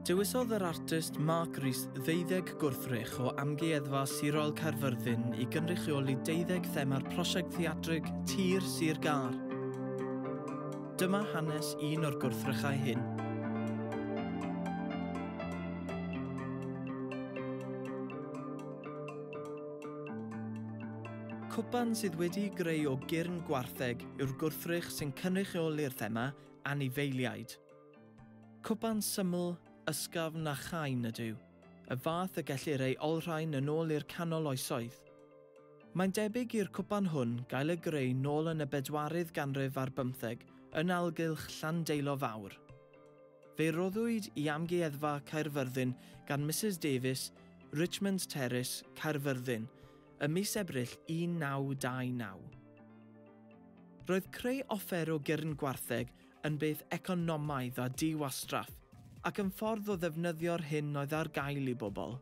Dewisodd yr artist Mark Rees ddeuddeg gwrthrych o Amgueddfa Sirol Caerfyrddin i gynrychioli deuddeg thema'r prosiect theatrig Tir Sir Gâr. Dyma hanes un o'r gwrthrychau hyn. Cwpan sydd wedi'i greu o gyrn gwartheg yw'r gwrthrych sy'n cynrychioli'r thema anifeiliaid. Cwpan syml, ysgafn a chain ydyw, y fath y gellir ei olrhain yn ôl i'r canol oesoedd. Mae'n debyg i'r cwpan hwn gael ei greu nôl yn y bedwaredd ganrif ar bymtheg yn algylch Llandeilo Fawr. Fe roddwyd i Amgueddfa Caerfyrddin gan Mrs Davies, Richmond Terrace, Caerfyrddin, ym mis Ebrill 1929. Roedd creu offer o gyrn gwartheg yn beth economaidd a diwastraff, ac yn ffordd o ddefnyddio'r hyn oedd ar gael i bobl.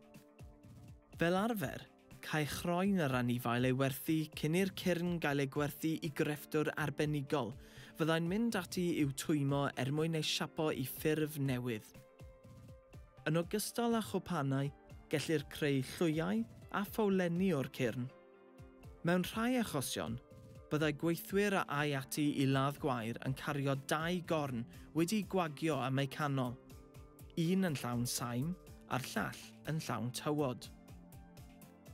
Fel arfer, cae chroen yr anifail ei werthu cyn i'r cyrn gael ei gwerthu i grefftwr arbenigol, fyddai'n mynd ati i'w twymo er mwyn ei siapo i ffurf newydd. Yn ogystal â chwpanau, gellir creu llwyau a ffowlenni o'r cyrn. Mewn rhai achosion, byddai gweithwyr a ai ati i ladd gwair yn cario dau gorn wedi gwagio am eu canol, un yn llawn saim a'r llall yn llawn tywod.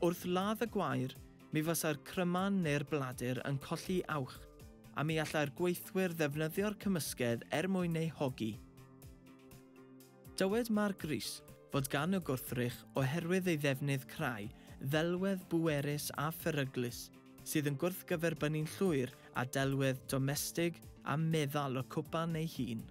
Wrth ladd y gwair, mi fysa'r cryman neu'r bladur yn colli awch, a mi allai'r gweithwyr ddefnyddio'r cymysgedd er mwyn ei hogi. Dywed Mark Rees fod gan y gwrthrych oherwydd ei ddefnydd crai ddelwedd bwerus a pheryglus, sydd yn gwrthgyferbynnu'n llwyr â delwedd domestig a meddal y cwpan ei hun.